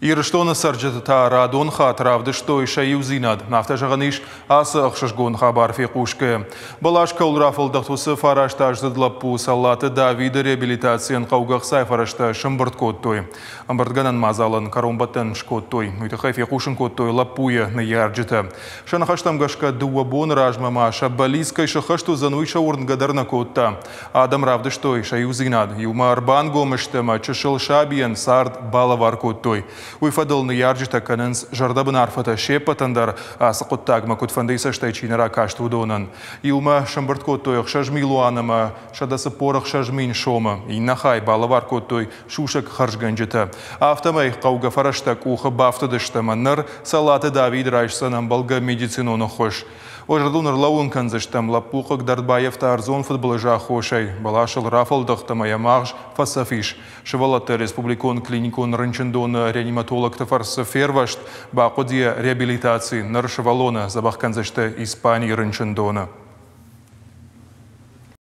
Ирыстоны цӕрджытӕ та радон хатт равдыстой сӕ иудзинад. Афтӕ зӕгъӕн ис, ацы ӕхсызгон хабар фехъусгӕйӕ. Бӕлас кӕуыл рафӕлдӕхт, уыцы фарастаздзыд лӕппу Цӕллаты Давиды реабилитацийӕн хъӕугӕ ӕхцайы фӕрӕзтӕ сӕмбырд кодтой. Ӕмбырдгӕнӕн мадзалӕн кӕронбӕттӕн скодтой. Уый тыххӕй фехъусын кодтой лӕппуйы ныййарджытӕ. Сӕ ныхӕстӕм гӕсгӕ 2 боны размӕ ма сӕ бӕллиц кӕй сӕххӕст уыдзӕн, уый сӕ уырнгӕ дӕр нӕ кодта. Адӕм равдыстой сӕ иудзинад, иумӕ ӕрбангом сты ӕмӕ чысыл сабийӕн цард балӕвар кодтой. Уый фӕдыл ныййарджытӕ кӕнынц зӕрдӕбын арфӕтӕ се ппӕтӕн дӕр, ацы хъуыддагмӕ куыдфӕндыйы цӕстӕй чи нӕ ракаст, уыдонӕн. Иумӕ сӕмбырд кодтой 6 милуан ӕмӕ 146 000 сомы. Иннӕ хай балӕвар кодтой сусӕг хӕрзгӕнджытӕ. Афтӕмӕй хъӕугӕ фӕрӕзтӕ къухы бафтыдысты ӕмӕ ныр Цӕллаты Давид райсдзӕн ӕмбӕлгӕ медицинон ӕххуыс. Уӕ зӕрдыл ӕрлӕууын кӕндзыстӕм, лӕппу хъыгдард баййӕфта ӕрдзон фыдбылызы аххосӕй. Бӕласыл рафӕлдӕхт ӕмӕ йӕ магъз фӕцӕф ис. Сывӕллӕтты республикон клиникон рынчындоны реаниматологты фӕрцы фервӕзт, бахъуыд йӕ реабилитаци. Ныр сывӕллоны дзӕбӕх кӕндзысты Испанийы рынчындоны.